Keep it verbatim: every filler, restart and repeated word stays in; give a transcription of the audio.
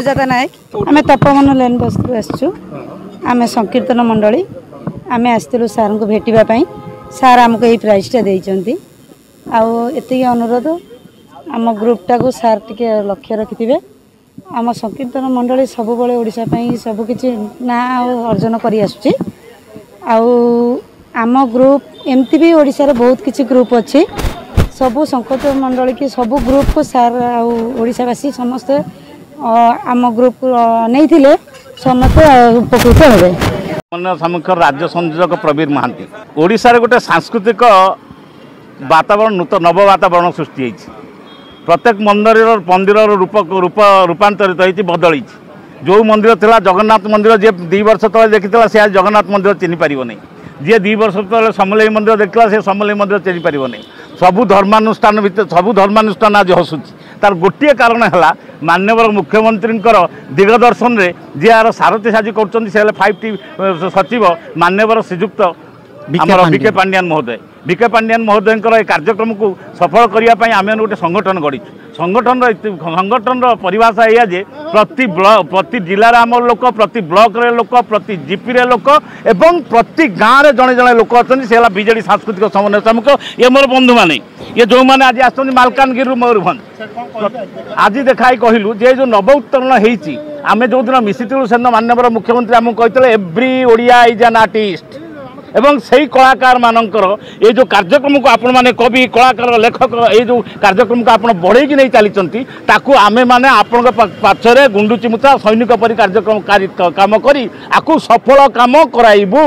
ସୁଜାତା ନାୟକ। ଆମେ ତପବନ ଲେନ୍ ବସ୍ତିରୁ ଆସିଛୁ। ଆମେ ସଂକୀର୍ତ୍ତନ ମଣ୍ଡଳୀ, ଆମେ ଆସିଥିଲୁ ସାର୍ଙ୍କୁ ଭେଟିବା ପାଇଁ। ସାର୍ ଆମକୁ ଏଇ ପ୍ରାଇଜ୍ଟା ଦେଇଛନ୍ତି। ଆଉ ଏତିକି ଅନୁରୋଧ, ଆମ ଗ୍ରୁପ୍ଟାକୁ ସାର୍ ଟିକେ ଲକ୍ଷ୍ୟ ରଖିଥିବେ। ଆମ ସଂକୀର୍ତ୍ତନ ମଣ୍ଡଳୀ ସବୁବେଳେ ଓଡ଼ିଶା ପାଇଁ ସବୁକିଛି ନାଁ ଆଉ ଅର୍ଜନ କରି ଆସୁଛି। ଆଉ ଆମ ଗ୍ରୁପ୍ ଏମିତି ବି ଓଡ଼ିଶାରେ ବହୁତ କିଛି ଗ୍ରୁପ୍ ଅଛି। ସବୁ ସଂକୀର୍ତ୍ତନ ମଣ୍ଡଳୀ କି ସବୁ ଗ୍ରୁପ୍କୁ ସାର୍ ଆଉ ଓଡ଼ିଶାବାସୀ ସମସ୍ତେ ଆମ ଗ୍ରୁପ୍କୁ ନେଇଥିଲେ ସମସ୍ତେ ଉପକୃତ ହେବେ। ସମୀକ୍ଷର ରାଜ୍ୟ ସଂଯୋଜକ ପ୍ରବୀର ମହାନ୍ତି। ଓଡ଼ିଶାରେ ଗୋଟେ ସାଂସ୍କୃତିକ ବାତାବରଣ, ନୂତନ ନବ ବାତାବରଣ ସୃଷ୍ଟି ହେଇଛି। ପ୍ରତ୍ୟେକ ମନ୍ଦିରର ମନ୍ଦିରର ରୂପ ରୂପ ରୂପାନ୍ତରିତ ହେଇଛି, ବଦଳିଛି। ଯେଉଁ ମନ୍ଦିର ଥିଲା ଜଗନ୍ନାଥ ମନ୍ଦିର, ଯିଏ ଦୁଇ ବର୍ଷ ତଳେ ଦେଖିଥିଲା ସେ ଆଜି ଜଗନ୍ନାଥ ମନ୍ଦିର ଚିହ୍ନି ପାରିବନି। ଯିଏ ଦୁଇ ବର୍ଷ ତଳେ ସମଲେଇ ମନ୍ଦିର ଦେଖିଥିଲା ସେ ସମଲେଇ ମନ୍ଦିର ଚିହ୍ନି ପାରିବନି। ସବୁ ଧର୍ମାନୁଷ୍ଠାନ ଭିତରେ ସବୁ ଧର୍ମାନୁଷ୍ଠାନ ଆଜି ହସୁଛି। ତାର ଗୋଟିଏ କାରଣ ହେଲା ମାନ୍ୟବର ମୁଖ୍ୟମନ୍ତ୍ରୀଙ୍କର ଦିଗଦର୍ଶନରେ ଯିଏ ଆର ସାରଥୀ ସାଜି କରୁଛନ୍ତି, ସେ ହେଲେ ଫାଇଭ୍ ଟି ସଚିବ ମାନ୍ୟବର ଶ୍ରୀଯୁକ୍ତ ଆମର ବି କେ ପାଣ୍ଡିଆନ ମହୋଦୟ। ବି କେ ପାଣ୍ଡିଆନ ମହୋଦୟଙ୍କର ଏ କାର୍ଯ୍ୟକ୍ରମକୁ ସଫଳ କରିବା ପାଇଁ ଆମେ ଗୋଟେ ସଂଗଠନ ଗଢ଼ିଛୁ। ସଂଗଠନର ସଂଗଠନର ପରିଭାଷା ଏଇଆ ଯେ ପ୍ରତି ପ୍ରତି ଜିଲ୍ଲାରେ ଆମର ଲୋକ, ପ୍ରତି ବ୍ଲକରେ ଲୋକ, ପ୍ରତି ଜିପିରେ ଲୋକ ଏବଂ ପ୍ରତି ଗାଁରେ ଜଣେ ଜଣେ ଲୋକ ଅଛନ୍ତି। ସେ ହେଲା ବିଜେଡ଼ି ସାଂସ୍କୃତିକ ସମନ୍ୱୟ ସମ୍ମୁଖ। ଇଏ ମୋର ବନ୍ଧୁମାନେ, ଇଏ ଯେଉଁମାନେ ଆଜି ଆସିଛନ୍ତି ମାଲକାନଗିରିରୁ, ମୟୂରଭଞ୍ଜ। ଆଜି ଦେଖାଇ କହିଲୁ ଯେ ଯେଉଁ ନବ ଉତ୍ତୋଳନ ହେଇଛି, ଆମେ ଯେଉଁଦିନ ମିଶିଥିଲୁ ସେଦିନ ମାନ୍ୟବର ମୁଖ୍ୟମନ୍ତ୍ରୀ ଆମକୁ କହିଥିଲେ every Odia is an artist. ଏବଂ ସେଇ କଳାକାରମାନଙ୍କର ଏଇ ଯେଉଁ କାର୍ଯ୍ୟକ୍ରମକୁ ଆପଣମାନେ କବି, କଳାକାର, ଲେଖକ, ଏଇ ଯେଉଁ କାର୍ଯ୍ୟକ୍ରମକୁ ଆପଣ ବଢ଼େଇକି ନେଇ ଚାଲିଛନ୍ତି, ତାକୁ ଆମେମାନେ ଆପଣଙ୍କ ପାଛରେ ଗୁଣ୍ଡୁଚି ମୂଷା ସୈନିକ ପରି କାର୍ଯ୍ୟକ୍ରମ କାମ କରି ଆକୁ ସଫଳ କାମ କରାଇବୁ।